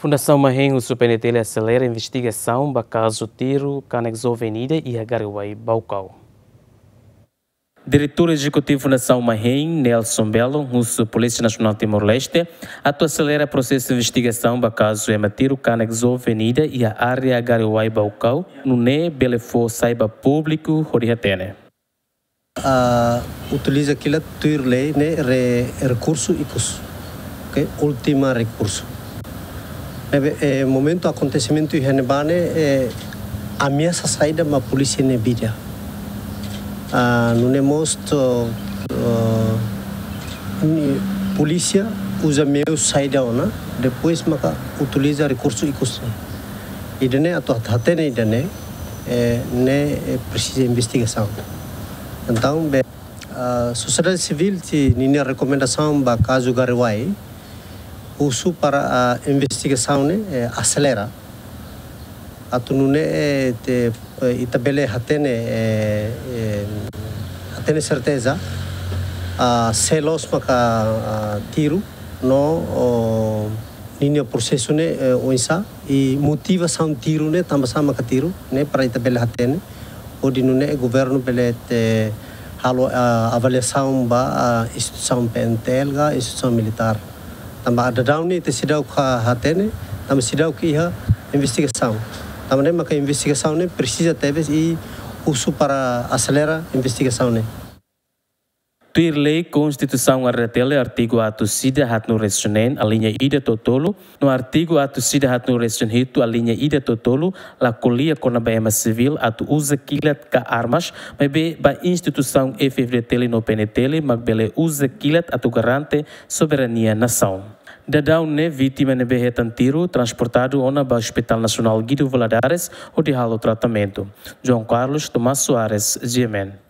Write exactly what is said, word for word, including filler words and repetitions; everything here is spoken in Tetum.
Fundasaun Mahein husu P N T L aselera investigasaun ba kazu tiru kanek joven ida iha Gariuai, Baucau. Diretór Ezekutivu Fundasaun Mahein, Nelson Belo, husu Polísia Nasionál Timor-Leste atu aselera prosesu investigasaun ba kazu ema tiru kanek joven ida iha área Gariuai, Baucau, nune'e bele fó sai ba públiku hodi hatene. Ah, utiliza kilat tuir lei ne'e re-, rekursu ikus. Ok? Última rekursu. Ne'ebé, eh, momentu akontesimentu iha ne'ebá ne'e, eh, ameasa saida ba polísia nia vida. Ah, nune'e mós, ah, ni-, polísia uza meiu saida ona, depois maka utiliza rekursu ikus. Ida-ne'e atu hat-, hatene ida-ne'e, eh, ne'e, eh, presiza investigasaun. Entaun, be, ah, sosiedade sivíl sei ninia rekomendasaun ba kazu Gariuai, husu para, ah, investigasaun ne'e, eh, aselera. Atu nune'e, eh, te, eh, ita bele hatene, eh, eh, hatene serteza, ah, sé loos maka, ah, tiru, no, o, ninia prosesu ne'e, eh, oinsá, i motivasaun tiru ne'e, tanbasá maka tiru ne'e, para ita bele hatene, hodi nune'e governu bele, eh, halo, ah, avaliasaun ba, ah, instituisaun P N T L ka instituisaun militár. Tanba daudaun ne'e ita seidauk hatene, tanba seidauk iha investigasaun. Tanba ne'e maka investigasaun ne'e presiza tebes i husu para aselera investigasaun ne'e. Tuir lei, Konstituisaun R D T L artigu atus ida haatnulu resin neen, aliña ida to'o tolu, no artigu atus ida haatnulu resin hitu, aliña ida to'o tolu, la ko'alia kona-ba ema sivíl atu uza kilat ka armas, maibé ba instituisaun F-FDTL no P N T L mak bele uza kilat atu garante soberania nasaun. Daudaun ne'e vítima ne'ebé hetan tiru transportadu ona ba Hospital Nasionál Guido Valadares hodi halo tratamentu. João Carlos, Tomás Soares, G M N.